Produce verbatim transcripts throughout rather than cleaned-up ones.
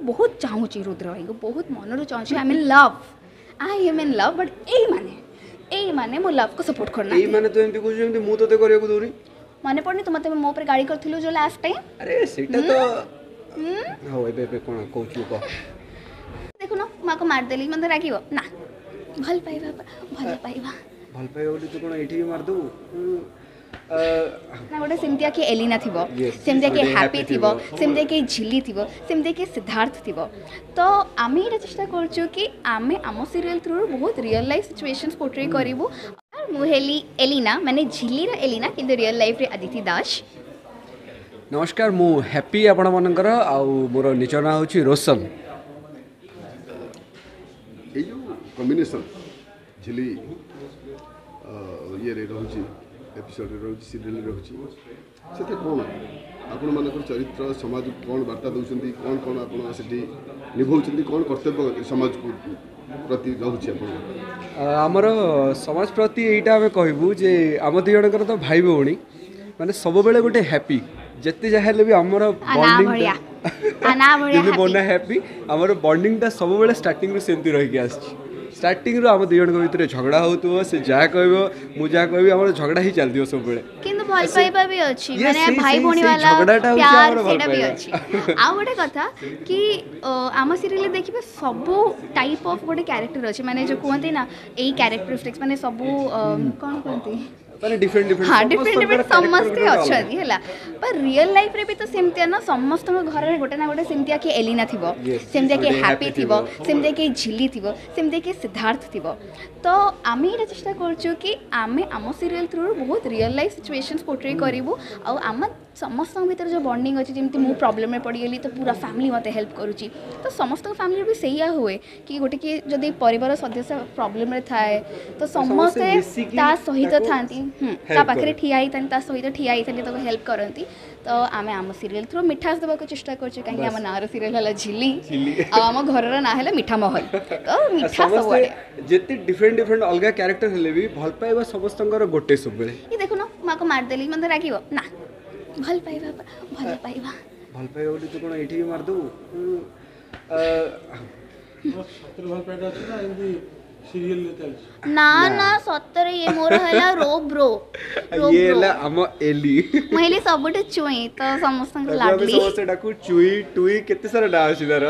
ବହୁତ ଚାହୁଁଛି ରୁଦ୍ର ଭାଇଙ୍କୁ ବହୁତ ମନରୁ ଚାହୁଁଛି I in love I am in love but ଏଇମାନେ ଏଇମାନେ ମୋ ଲଭ୍କୁ ସପୋର୍ଟ ଏଇ କରୁନାହାନ୍ତି ମାନେ ତୁ ଏମିତି କହୁଛୁ ଯେମିତି ମୁଁ ତୋତେ କରିବାକୁ ଦଉନି ମନେ ପଡ଼ୁନି ତୁ ମୋତେ ମୋ ଉପରେ ଗାଳି କରିଥିଲୁ ଯୋଉ ଲାଷ୍ଟ ଟାଇମ୍ ଆରେ ସେଇଟା ତ ହଉ ଏବେ ଏବେ କ'ଣ କହୁଛୁ କହ ଦେଖୁନ ମୁଁ ଆକୁ ମାରିଦେଲି ମୋତେ ରାଗିବ ନା ଭଲ ପାଇବା ଭଲ ପାଇବା ଭଲ ପାଇବା ବୋଲି ତୁ କ'ଣ ଏଇଠି ବି ମାରିଦେବୁ ଉଁ, ଅ, ନା ଗୋଟେ ସେମିତିଆ କିଏ ଏଲିନା ଥିବ Yes, ସେମିତିଆ କିଏ ଗୋଟେ ହ୍ୟାପି happy ଥିବ ଥିବ। ସେମିତିଆ କିଏ ଝିଲି ଥିବ ସେମିତିଆ କିଏ ସିଦ୍ଧାର୍ଥ ଥିବ ତ ଆମେ ଏଇଟା ଚେଷ୍ଟା କରୁଛୁ କି ଆମେ ଆମ ସିରିଏଲ୍ ଥ୍ରୁରୁ ବହୁତ ରିଅଲ୍ ଲାଇଫ୍ ସିଚୁଏସନ୍ସ ପୋର୍ଟ୍ରେ କରିବୁ ଆଉ ମୁଁ ହେଲି ଏଲିନା ମାନେ ଝିଲିର ଏଲିନା କିନ୍ତୁ ରିଅଲ୍ ଲାଇଫ୍ରେ ଅଦିତି ଦାସ ନମସ୍କାର ମୁଁ ହ୍ୟାପି ଆପଣମାନଙ୍କର ଆଉ ମୋର ନିଜ ନାଁ ହେଉଛି ରୋଶନ ଏଇ ଯେଉଁ କମ୍ବିନେସନ୍ ଝିଲି ଅ, ଇଏରେ ରହୁଛି ଏପିସୋଡ଼ରେ ରହୁଛି ସିରିଏଲରେ ରହୁଛି ସେଥିରେ କ'ଣ ଆପଣମାନଙ୍କର ଚରିତ୍ର ସମାଜକୁ କ'ଣ ବାର୍ତ୍ତା ଦେଉଛନ୍ତି କ'ଣ କ'ଣ ଆପଣ ସେଠି ନିଭଉଛନ୍ତି କ'ଣ କର୍ତ୍ତବ୍ୟ ସମାଜକୁ ପ୍ରତି ରହୁଛି ଆପଣଙ୍କର ଆ, ଆମର ସମାଜ ପ୍ରତି ଏଇଟା ଆମେ କହିବୁ ଯେ ଆମ ଦୁଇ ଜଣଙ୍କର ତ ଭାଇ ଭଉଣୀ ମାନେ ସବୁବେଳେ ଗୋଟେ ହ୍ୟାପି ଯେତେ ଯାହା ହେଲେ ବି ଆମର ଆ ନା ଭଳିଆ। ଆ ନା ଭଳିଆ ଯେମିତି ମୋ happy। ନାଁ ହ୍ୟାପି ଆମର ବଣ୍ଡିଙ୍ଗଟା ସବୁବେଳେ ଷ୍ଟାର୍ଟିଂରୁ ସେମିତି ରହିକି ଆସିଛି ଷ୍ଟାର୍ଟିଂରୁ ଆମ ଦୁଇ ଜଣଙ୍କ ଭିତରେ ଝଗଡ଼ା ହେଉଥିବ ସେ ଯାହା କହିବ ମୁଁ ଯାହା କହିବି ଆମର ଝଗଡ଼ା ହିଁ ଚାଲିଥିବ ସବୁବେଳେ କିନ୍ତୁ ଭଲ ପାଇବା ବି ଅଛି Yes, ମାନେ ସେଇ- ଭାଇ ସେଇ- ଭଉଣୀ ସେଇ ବାଲା ଝଗଡ଼ାଟା ହଉଛି ପ୍ୟାର ଆମର ଭଲ ସେଇଟା ବି ପାଇବା। ଅଛି ଆଉ ଗୋଟେ କଥା କି ଅ, ଆମ ସିରିଏଲରେ ଦେଖିବେ ସବୁ ଟାଇପ୍ ଅଫ୍ ଗୋଟେ କ୍ୟାରେକ୍ଟର ଅଛି ମାନେ ଯେଉଁ କୁହନ୍ତି ନା ଏଇ କ୍ୟାରେକ୍ଟରିଷ୍ଟିକ୍ସ ମାନେ ସବୁ ଅ, କ'ଣ କୁହନ୍ତି ମାନେ ଡିଫରେଣ୍ଟ ଡିଫରେଣ୍ଟ ହଁ ଡିଫରେଣ୍ଟ ଡିଫରେଣ୍ଟ ସମସ୍ତେ ଅଛନ୍ତି ହେଲା ବା ରିଅଲ୍ ଲାଇଫ୍ରେ ବି ତ ସେମିତିଆ ନା ସମସ୍ତଙ୍କ ଘରରେ ଗୋଟେ ନା ଗୋଟେ ସେମିତିଆ କିଏ ଏଲିନା ଥିବ Yes, ସେମିତିଆ କିଏ ଗୋଟେ ହ୍ୟାପି happy ଥିବ ଥିବ। ସେମିତିଆ କିଏ ଝିଲି ଥିବ ସେମିତିଆ କିଏ ସିଦ୍ଧାର୍ଥ ଥିବ ତ ଆମେ ଏଇଟା ଚେଷ୍ଟା କରୁଛୁ କି ଆମେ ଆମ ସିରିଏଲ୍ ଥ୍ରୁରୁ ବହୁତ ରିଅଲ୍ ଲାଇଫ୍ ସିଚୁଏସନ୍ସ ପୋର୍ଟ୍ରେ କରିବୁ ଆଉ ଆମ ସମସ୍ତଙ୍କ ଭିତରେ ଯେଉଁ ବଣ୍ଡିଙ୍ଗ ଅଛି ଯେମିତି ମୁଁ ପ୍ରୋବ୍ଲେମ୍ରେ ପଡ଼ିଗଲି ତ ପୁରା ଫ୍ୟାମିଲି ମୋତେ ହେଲ୍ପ କରୁଛି ତ ସମସ୍ତଙ୍କ ଫ୍ୟାମିଲିରେ ବି ସେଇଆ ହୁଏ କି ଗୋଟେ କିଏ ଯଦି ପରିବାର ସଦସ୍ୟ ପ୍ରୋବ୍ଲେମ୍ରେ ଥାଏ ତ ସମସ୍ତେ ମିଶିକି ତା ସହିତ ତାକୁ ଥାନ୍ତି ହୁଁ, ତା help ପାଖରେ କରନ୍ତି। ଠିଆ ହେଇଥାନ୍ତି ତା ସହିତ ଠିଆ ହେଇଥାନ୍ତି ତାକୁ ହେଲ୍ପ କରନ୍ତି ତ ଆମେ ଆମ ସିରିଏଲ୍ ଥ୍ରୁ ମିଠାସ ଦେବାକୁ ଚେଷ୍ଟା କରୁଛୁ କାହିଁକି ଆମ ନାଁର ସିରିଏଲ୍ ହେଲା ଝିଲି ଝିଲି। ଆଉ ଆମ ଘରର ନାଁ ହେଲା ମିଠା ମହଲ ତ ମିଠା ସମସ୍ତେ ସବୁଆଡ଼େ ଯେତେ ଡିଫରେଣ୍ଟ ଡିଫରେଣ୍ଟ ଅଲଗା କ୍ୟାରେକ୍ଟର ହେଲେ ବି ଭଲ ପାଇବା ସମସ୍ତଙ୍କର ଗୋଟେ ସବୁବେଳେ ଏ ଦେଖୁନ ମୁଁ ଆକୁ ମାରିଦେଲି ମୋତେ ରାଗିବ ନା ଭଲ ପାଇବା ଭଲ ପାଇବା ଭଲ ପାଇବା ବୋଲି ତୁ କ'ଣ ଏଇଠି ବି ମାରିଦେବୁ ଉଁ, ଅ, ସତରେ ଭଲ ପାଇବାଟା ଅଛି ନା ଏମିତି ସିରିଏଲରେ ଚାଲିଛି ନା ନା ସତରେ ଇଏ ମୋର ହେଲା ରୋ ବ୍ରୋ ରୋ ଇଏ ବ୍ରୋ ହେଲା ଆମ ଏଲି ମୁଁ ହେଲି ସବୁଠୁ ଚୁଇଁ ତ ସମସ୍ତଙ୍କର ତାକୁ ଆମେ ଲାଡଲି ସମସ୍ତେ ଡାକୁ ଚୁଇ ଟୁଇ କେତେ ସାରା ନାଁ ଅଛି ତାର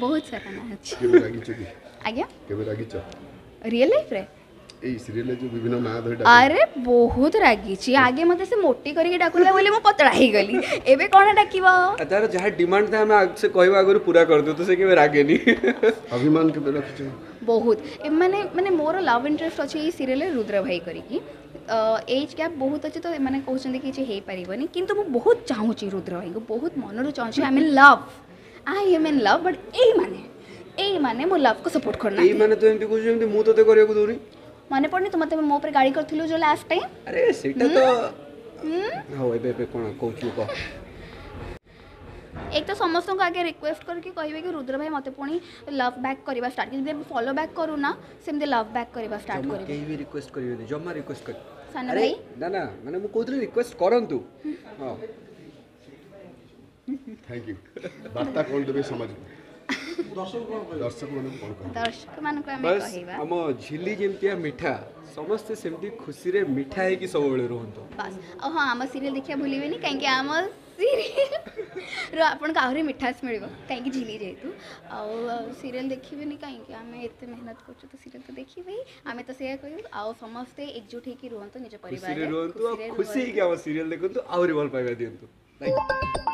ବହୁତ ସାରା ନାଁ ଅଛି କେବେ ରାଗିଛ କି ଆଜ୍ଞା କେବେ ରାଗିଛ ରିଅଲ୍ ଲାଇଫ୍ରେ ଏଇ ସିରିଏଲରେ ଯେଉଁ ବିଭିନ୍ନ ନାଁ ଧରି ଡାକ ଆରେ ବହୁତ ରାଗିଛି ଆଗେ ମୋତେ ସେ ମୋଟି କରିକି ଡାକୁଥିଲା ବୋଲି ମୁଁ ପତଳା ହେଇଗଲି ଏବେ କ'ଣ ଡାକିବ ଆଉ ତାର ଯାହା ଡିମାଣ୍ଡ ଥାଏ ଆମେ ଆଗ- ସେ କହିବା ଆଗରୁ ପୁରା କରିଦେଉ ତ ସେ କେବେ ରାଗେନି ଅଭିମାନ କେବେ ରଖିଛ ବହୁତ ଏମାନେ ମାନେ ମୋର ଲଭ୍ ଇଣ୍ଟରେଷ୍ଟ ଅଛି ଏଇ ସିରିଏଲରେ ରୁଦ୍ର ଭାଇ କରିକି ଏଜ୍ ଗ୍ୟାପ୍ ବହୁତ ଅଛି ତ ଏମାନେ କହୁଛନ୍ତି କି କିଛି ହେଇପାରିବନି କିନ୍ତୁ ମୁଁ ବହୁତ ଚାହୁଁଛି ରୁଦ୍ର ଭାଇଙ୍କୁ ବହୁତ ମନରୁ ଚାହୁଁଛି I in love I am in love but ଏଇମାନେ ଏଇମାନେ ମୋ ଲଭ୍କୁ ସପୋର୍ଟ ଏଇ କରୁନାହାନ୍ତି ମାନେ ତୁ ଏମିତି କହୁଛୁ ଯେମିତି ମୁଁ ତୋତେ କରିବାକୁ ଦଉନି ମନେ ପଡ଼ୁନି ତୁ ମୋତେ ମୋ ଉପରେ ଗାଳି କରିଥିଲୁ ଯୋଉ ଲାଷ୍ଟ ଟାଇମ୍ ଆରେ ସେଇଟା ତ ହଉ ଏବେ ଏବେ କ'ଣ କହୁଛୁ କହ ଏକ ତ ସମସ୍ତଙ୍କୁ ଆଗେ ରିକ୍ୱେଷ୍ଟ କରିକି କହିବେ କି ରୁଦ୍ର ଭାଇ ମୋତେ ପୁଣି ଲଭ୍ ବ୍ୟାକ୍ କରିବା ଷ୍ଟାର୍ଟ ଯେମିତି ଫଲୋ ବ୍ୟାକ୍ କରୁନା ସେମିତି ଲଭ୍ ବ୍ୟାକ୍ କରିବା ଷ୍ଟାର୍ଟ ଜମା କରିବେ କେହି ବି ରିକ୍ୱେଷ୍ଟ କରିବେନି ଜମା ରିକ୍ୱେଷ୍ଟ କରି ସାନ ଆରେ ଭାଇ ନା ନା ମାନେ ମୁଁ କହୁଥିଲି ରିକ୍ୱେଷ୍ଟ କରନ୍ତୁ ହଁ thank you ବାର୍ତ୍ତା କ'ଣ ଦେବେ ସମାଜକୁ ଦର୍ଶକ କ'ଣ କହିବେ ଦର୍ଶକମାନଙ୍କୁ କ'ଣ କହିବେ ଦର୍ଶକମାନଙ୍କୁ ଆମେ ବାସ୍ କହିବା ଆମ ଝିଲି ଯେମିତିଆ ମିଠା ସମସ୍ତେ ସେମିତି ଖୁସିରେ ମିଠା ହେଇକି ସବୁବେଳେ ରୁହନ୍ତୁ ବାସ୍ ଆଉ ହଁ ଆମ ସିରିଏଲ୍ ଦେଖିବା ଭୁଲିବେନି କାହିଁକି ଆମ ସିରିଏଲ୍ର ଆପଣଙ୍କୁ ଆହୁରି ମିଠାସ ମିଳିବ କାହିଁକି ଝିଲି ଯେହେତୁ ଆଉ ସିରିଏଲ୍ ଦେଖିବେନି କାହିଁକି ଆମେ ଏତେ ମେହନତ କରୁଛୁ ତ ସିରିଏଲ୍ ତ ଦେଖିବେ ହିଁ ଆମେ ତ ସେଇଆ କହିବୁ ଆଉ ସମସ୍ତେ ଏକଜୁଟ ହେଇକି ରୁହନ୍ତୁ ନିଜ ଖୁସିରେ ପରିବାରରେ ରୁହନ୍ତୁ ଆଉ ଖୁସିରେ ଖୁସି ରୁହନ୍ତୁ। ହେଇକି ଆମ ସିରିଏଲ୍ ଦେଖନ୍ତୁ ଆହୁରି ଭଲ ପାଇବା ଦିଅନ୍ତୁ Bye.